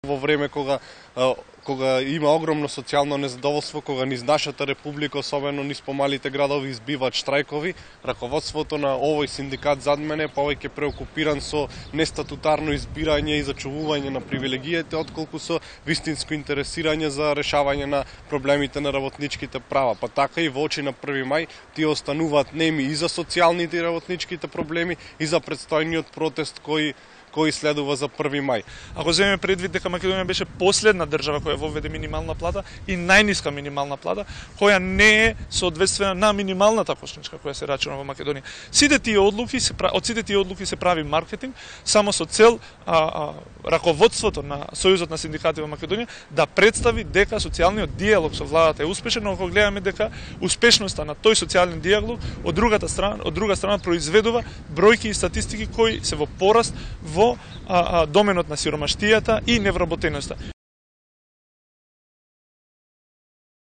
Во време кога има огромно социјално незадоволство, кога низ нашата република, особено низ помалите градови, избиваат штрајкови, раководството на овој синдикат зад мене повеќе преокупиран со нестатутарно избирање и зачувување на привилегиите, отколку со вистинско интересирање за решавање на проблемите на работничките права. Па така и во очи на 1 мај тие остануваат неми и за социјалните и работничките проблеми и за предстојниот протест кој следува за 1 мај. Ако земеме предвид дека Македонија беше последна држава која воведе минимална плата и најниска минимална плата, која не е соодветствена на минималната кошничка која се рачуна во Македонија. Од сите тие одлуки се прави маркетинг само со цел раководството на Сојузот на синдикати во Македонија да представи дека социјалниот дијалог со владата е успешен, но ако гледаме дека успешноста на тој социјален дијалог од друга страна произведува бројки и статистики кои се во пораст во доменот на сиромаштијата и невработеноста.